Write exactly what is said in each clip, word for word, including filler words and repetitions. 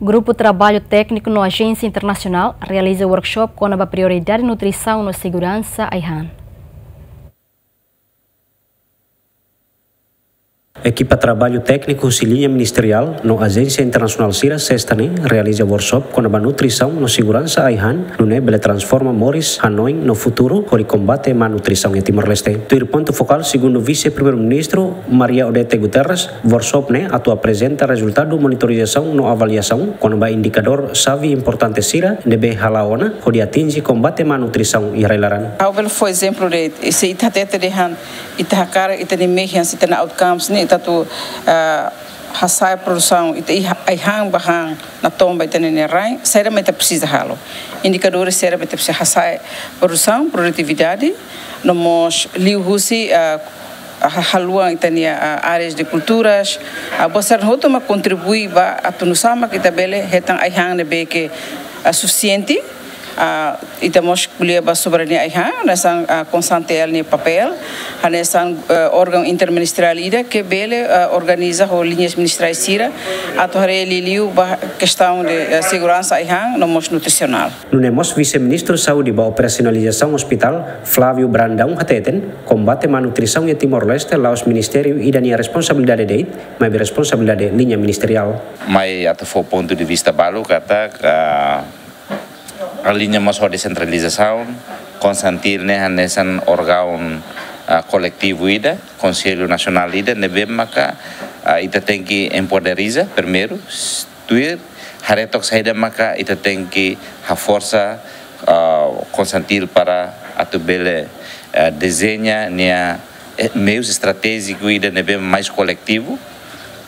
Grupu Traballu Tékniku no Ajénsia Internasionál realiza workshop kona-ba prioridade nutrisaun no seguransa ai-han. Ekipa traballu tékniku husi liña ministeriál no ajénsia internasionál sira Sesta ne'e realiza workshop kona-ba nutrisaun no seguransa ai-han, nune'e bele transforma moris, hanoin no futuru hodi kombate má nutrisaun iha Timor-Leste. Tuir pontu fokál, segundu Vise-Primeiru-Ministru Maria Odete Guterres, workshop ne'e atu aprezenta rezultadu monitorizasaun no avaliasaun kona-ba indikadór xave importante sira ne'ebé hala'o ona hodi atinje kombate má nutrisaun iha rai-laran. Ha'u bele fó ezemplu de'it, se ita hatete dehan ita hakarak ita-nia mehi hanesan ita-nia outcomes ne'e, ita atu, ah, hasa'e produsaun, ita iha ai-han ba han naton ba ita-nia rain, saida mak ita presiza halo. Indikadór saida mak ita presiza hasa'e produsaun, produtividade, no mós liuhusi, ah, ha-, haluan ita-nia, ah, áreas de kulturas, ah, buat sira hotu mak kontribui ba atu nu'usá mak ita bele hetan ai-han ne'ebé ke, ah, sufisiente, ah, ita mós ko'alia ba soberania ai-han, hanesan, ah, Konsan T L nia papél, hanesan, eh, órgaun interministeriál ida ke bele, eh, organiza ho liñas ministeriais sira, atu haree liuliu ba kestaun de, eh, seguransa ai-han, no mós nutrisionál. Nune'e mós Vise-Ministru Saúde ba operasionalizasaun ospitál, Flávio Brandão, hateten, kombate má nutrisaun iha Timor-Leste la'ós ministériu ida nia responsabilidade de'it, maibé responsabilidade liña ministeriál. Mai atu fó pontu de vista balu katak, ah, aliña mós ho desentralizasaun, Konsan T L ne'e hanesan órgaun, ah, koletivu ida, Konsellu Nasionál ida, ne'ebé maka, ah, ita tenke empoderiza primeiru, s-, tuir, haree took saida maka ita tenke haforsa, ah, Konsan T L para atu bele, ah, dezeña nia, eh, meius estratéjiku ida ne'ebé mais koletivu,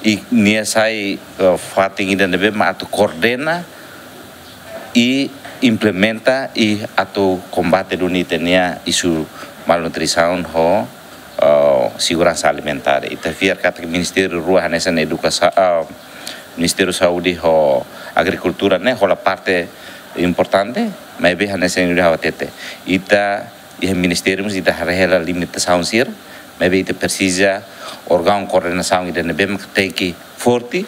i nia sai, ah, fatin ida ne'ebé mak atu koordena i implementa i atu kombate duni ita-nia isu malnutrisaun ho, eh, seguransa alimentár. Ita fiar katak ministériu rua hanesan edukasa-, ah, Ministériu Saúde ho Agrikultura ne'e hola parte importante, maibé hanesan ida ha'u hatete. Ita iha ministériu mós ita haree hela limitasaun sira, maibé ita presiza órgaun koordenasaun ida ne'ebé mak tenke forte,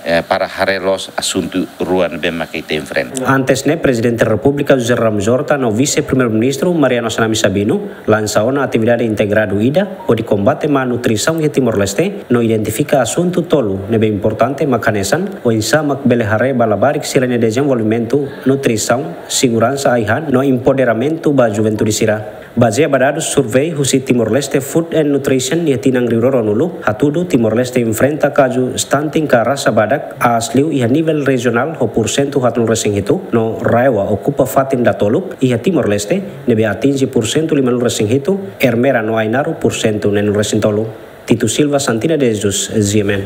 eh, para haree loos asuntu rua ne'ebé mak ita enfrenta. Antes ne'e, Prezidente Repúblika José Ramos Horta no Vise-Primeiru-Ministru Mariano Assanami Sabino lansa ona atividade integradu ida hodi kombate má nutrisaun iha Timor-Leste, no identifika asuntu tolu ne'ebé importante mak hanesan, oinsá mak bele haree ba labarik sira-nia dezenvolvimentu, nutrisaun, seguransa ai-han no empoderamentu ba juventude sira. Bazeia ba dadus survei husi Timor-Leste Food and Nutrition iha tinan rihun rua ruanulu, hatudu Timor-Leste enfrenta kazu stunting ka rasa badak aas liu iha nivel rejionál ho pursentu haatnulu resin hitu, no RAEOA okupa fatin datoluk iha Timor-Leste, ne'ebé atinje pursentu limanulu resin hitu, Ermera no Ainaro pursentu neenulu resin tolu. Tito Silva, Santina de Jesus, G M N.